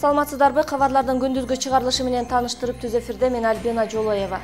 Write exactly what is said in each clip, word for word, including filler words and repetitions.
Саламатсыздарбы? Кабарлардын күндүзгү чыгарылышы менен тааныштырып түз эфирде мен Альбина Жолоева.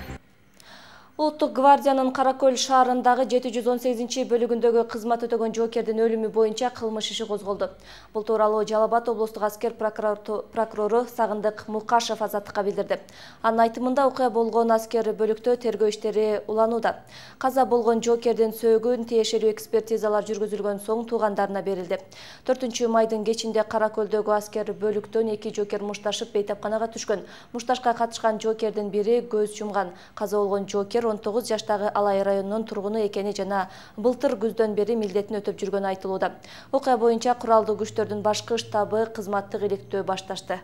Улуттук гвардиянын Каракөл шаарындагы жети жүз он сегизинчи бөлүгүндөгү кызмат өтөгөн жоокердин өлүмү боюнча кылмыш иши козголду. Бул тууралуу Жалал Абад облустук аскер прокурору Сагындык Мукашев азаттыкка билдирди. Анын айтымында окуя болгон аскер бөлүктө тергөө иштери уланууда. Каза болгон жоокердин сөөгүн тиешелүү экспертизалар жүргүзүлгөн соң туугандарына берилди. төртүнчү майдын кечинде Каракөлдөгү аскер бөлүктөн эки жоокер мушташып бейтапканага түшкөн. Мушташка катышкан жоокердин бири көз жумган. Каза болгон жоокер он тогуз жаштагы Алай районунун тургуну экени жана былтыр күздөн бери милдетин өтөп жүргөнү айтылууда. Окуя боюнча куралдуу күчтөрдүн башкы штабы кызматтык иликтөө башташты.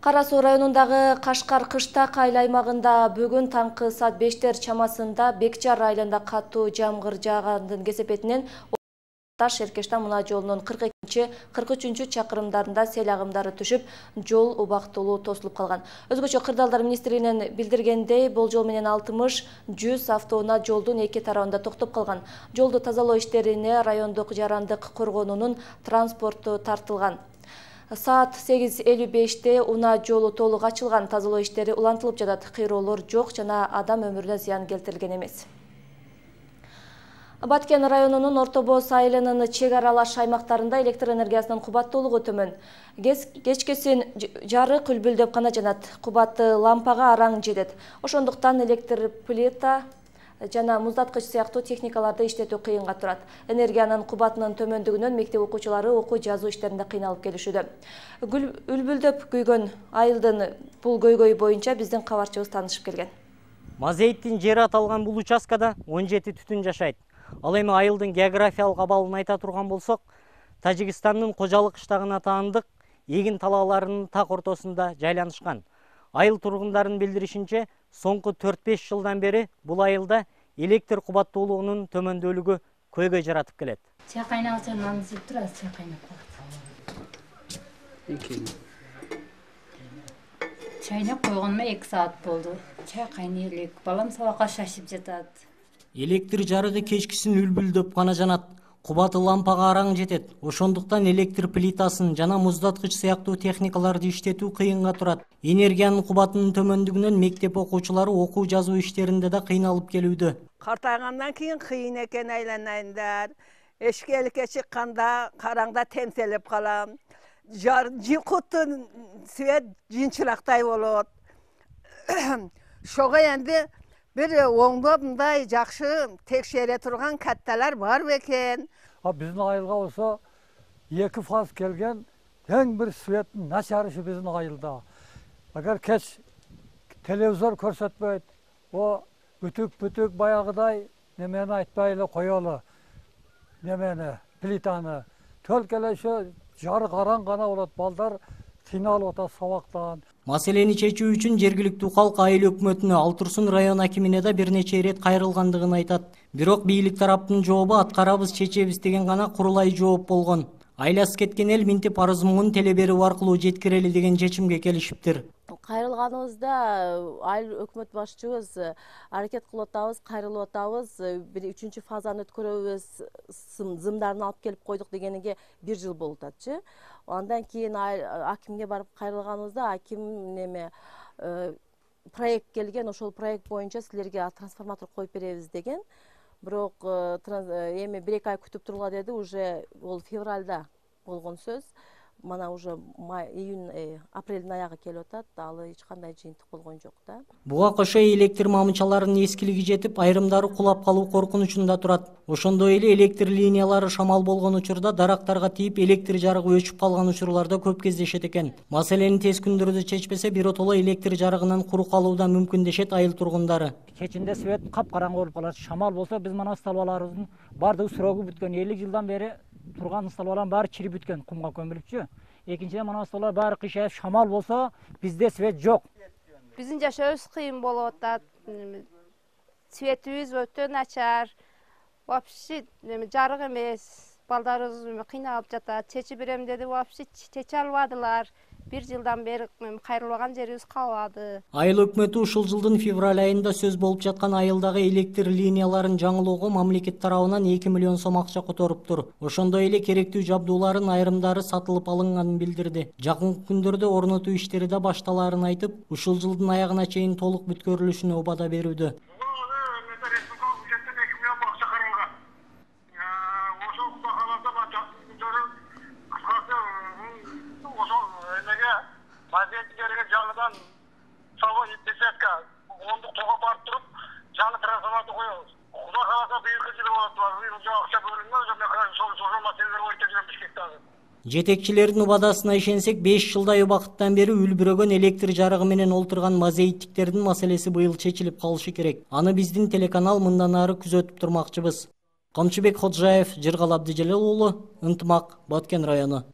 Кара Суу районундагы Кашкар Кыштак айыл аймагында бүгүн таңкы саат бештер чамасында Бекчар айылында катуу жамгыр жаагандын кесепетинен Таш Эркештан мына жолунун кырк экинчи кырк үчүнчү чакырымдарында сел агымдары түшүп, жол убактылуу тосулуп калган. Өзгөчө кырдаалдар министрлигинен билдиргендей, болжол менен алтымыш жүз автоунаа жолдун эки тарабында токтоп калган. Жолду тазалоо иштерине райондук жарандык коргоонунун транспорту тартылган. Саат сегиз элүү беште унаа жолу толук ачылган, тазалоо иштери улантылып жатат, кыйроолор жок жана адам өмүрүнө зыян келтирилген эмес. Баткен районунун Орто Боз айылынын чек аралаш аймактарында электр энергиясынын кубаттуулугу төмөн. Кечкесин жарык үлбүлдөп гана жанат, кубаты лампага араң жетет. Ошондуктан электр плита жана муздаткыч сыяктуу техникаларды иштетүү кыйынга турат. Энергиянын кубатынын төмөндүгүнөн мектеп окуучулары окуу жазуу иштеринде кыйналып келишүүдө. Үлбүлдөп күйгөн айылдын бул көйгөйү боюнча биздин кабарчыбыз таанышып келген. Мазейиттин жери аталган бул участкада он жети түтүн жашайт. Ал эми айылдын географиялык абалын айта турган болсок, Тажикстандын Кожалык кыштагына таандык эгин талааларынын так ортосунда жайланышкан. Айыл тургундарынын билдиришинче, соңку төрт беш жылдан бери бул айылда электр кубаттуулугунун төмөндүүлүгү көйгөй жаратып келет. Чай кайнагыча нан изип турат, чай кайнап калат. Чайнап койгоныма эки саат болду. Чай кайнай элек, балам сабакка шашып жатат. Электр жарыгы кечкисин үлбүлдөп гана жанат, кубаты лампага араң жетет. Ошондуктан электр плитасын жана муздаткыч сыяктуу техникаларды иштетүү кыйынга турат. Энергиянын кубатынын төмөндүгүнөн мектеп окуучулары окуу жазуу иштеринде да кыйналып келүүдө. Картайгандан кийин кыйын экен айланайындар. Эшкеликке чыкканда караңда темселеп калам. Жылкуттун свет жынчырактай болот. Шого энди бир оңдоп мындай жакшы текшере турган катталар бар бекен. Биздин айылга болсо эки фаз келген эң бир светтин начарышы биздин айылда. Агар кеч телевизор көрсөтпөйт, о бүтүк-бүтүк баягыдай немени айтпай эле коелу. Немени, плитаны. Төлкө эле ошо жарык араң гана болот, балдар кыйналып атат сабактан. Маселени чечүү үчүн жергиликтүү калк айыл өкмөтүнө, Ал Турсун район акимине да бир нече ирет кайрылгандыгын айтат. Бирок бийлик тараптын жообу аткарабыз, чечебиз деген гана курулай жооп болгон. Айласы кеткен эл минтип арыз муңун теле берүү аркылуу жеткирели деген чечимге келишиптир. Кайрылганыбызда айыл өкмөт башчыбыз аракет кылып атабыз, кайрылып атабыз, бир үчүнчү фазаны өткөрөбүз, зымдарын алып келип койдук дегениге бир жыл болуп атчы. Андан кийин акимге барып кайрылганыбызда аким неме проект келген, ошол проект боюнча силерге трансформатор коюп беребиз деген. Бирок эми бир эки ай күтүп тургула деди, уже ол февралда болгон сөз. Мана уже июнь апрелдин аягы келип атат, алы эч кандай жыйынтык болгон жок да. Буга кошо электр мамычаларынын эскилиги жетип, айрымдары кулап калуу коркунучунда турат. Ошондой эле электр линиялары шамал болгон учурда дарактарга тийип, электр жарыгы өчүп калган учурларда көп кездешет экен. Маселени тез күндөрдө чечпесе, биротоло электр жарыгынан куру калуу да мүмкүн дешет айыл тургундары. Кечинде свет капкараңгы болуп калат. Шамал болсо биз мана столбаларыбыздын бардыгы срогу бүткөн. элүү жылдан бери турган столбалардын баары чирип бүткөн, кумга көмүлүпчү. Экинчиден мына столбалар баары кыйшайып, шамал болсо бизде свет жок. Биздин жашообуз кыйын болуп атат. Светибиз өтө начар. Вообще жарык эмес. Балдарыбыз кыйналып жатат. Чечип берем деди, вообще чече албадылар. бир жылдан бери кайрылбаган жерибиз калбады. Айыл өкмөтү ушул жылдын февраль айында сөз болуп жаткан айылдагы электр линияларын жаңылоого мамлекет тарабынан эки миллион сом акча которуптур. Ошондой эле керектүү жабдууларын айрымдары сатылып алынганын билдирди. Жакынкы күндөрдө орнотуу иштери да башталаарын айтып, ушул жылдын аягына чейин толук бүткөрүлүшүнө убада берүүдө. Maziyetçilere canlıdan sabah desetka onduk toga barıp durup canlı transformatı koyuyoruz. Kuda kalasa büyük hızlı oladılar. Bir ucu akça bölünmez. Ömle karşı soru soru meseleleri oyuncaklarım Bişkek'te azı. Жетекчилердин убадасына ишенсек, беш жылдай убакыттан бери үлбүрөгөн электр жарыгы менен олтурган мазейиттиктердин маселеси быйыл чечилип калышы керек. Аны биздин телеканал мындан ары күзөтүп турмакчыбыз. Камчыбек Ходжаев, Жыргал Абдыжалил уулу, Ынтымак, Баткен району.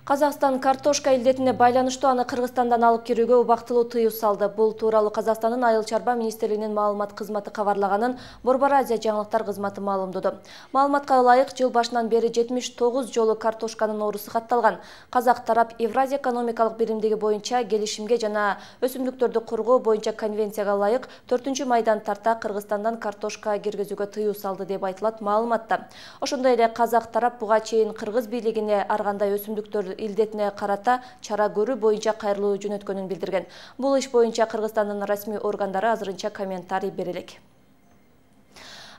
Казакстан картошка илдетине байланыштуу аны Кыргызстандан алып кирүүгө убактылуу тыюу салды. Бул тууралуу Казакстандын Айыл чарба министрлигинин маалымат кызматы кабарлаганын Борбор Азия жаңылыктар кызматы маалымдады. Маалыматка ылайык, жыл башынан бери жетимиш тогуз жолу картошканын оорусу катталган. Казак тарап Евразия экономикалык биримдиги боюнча келишимге жана өсүмдүктөрдү коргоо боюнча конвенцияга ылайык төртүнчү майдан тарта Кыргызстандан картошка киргизүүгө тыюу салды деп айтылат маалыматта. Ошондой эле Казак тарап буга чейин Кыргыз бийлигине ар кандай өсүмдүктөр илдетине карата чара көрүү боюнча кайрылуу жөнөткөнүн билдирген. Бул иш боюнча Кыргызстандын расмий органдары азырынча комментарий бере элек.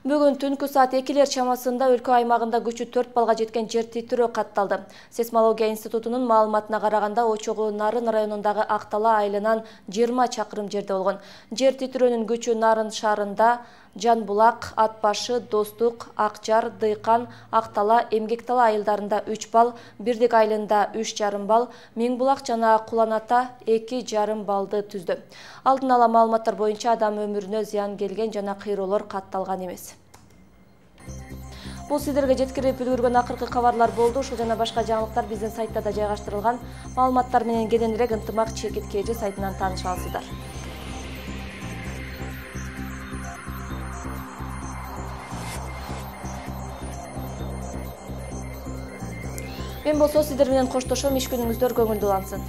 Бүгүн түнкү саат экилер чамасында өлкө аймагында күчү төрт балга жеткен жер титирөө катталды. Сейсмология институтунун маалыматына караганда очогу Нарын районундагы Актала айылынан жыйырма чакырым жерде болгон. Жер титирөөнүн күчү Нарын шаарында Жанбулак, Атбашы, Достук, Акжар, Дыйкан, Актала, Эмгектала айылдарында үч балл, Бирдик айылында үч жарым балл, Миңбулак жана Куланата эки жарым баллды түздү. Алдын ала маалыматтар боюнча адам өмүрүнө зыян келген жана кыйроолор катталган эмес. Бул сиздерге жеткирип үлгүргөн акыркы кабарлар болду. Ушул жана башка жаңылыктар биздин сайтта да жайгаштырылган. Маалыматтар менен кененирээк Ынтымак Чекит Кежи сайтынан тааныша аласыздар. Мен болсо сиздер менен коштошом, иш күнүңүздөр көңүлдүү улансын.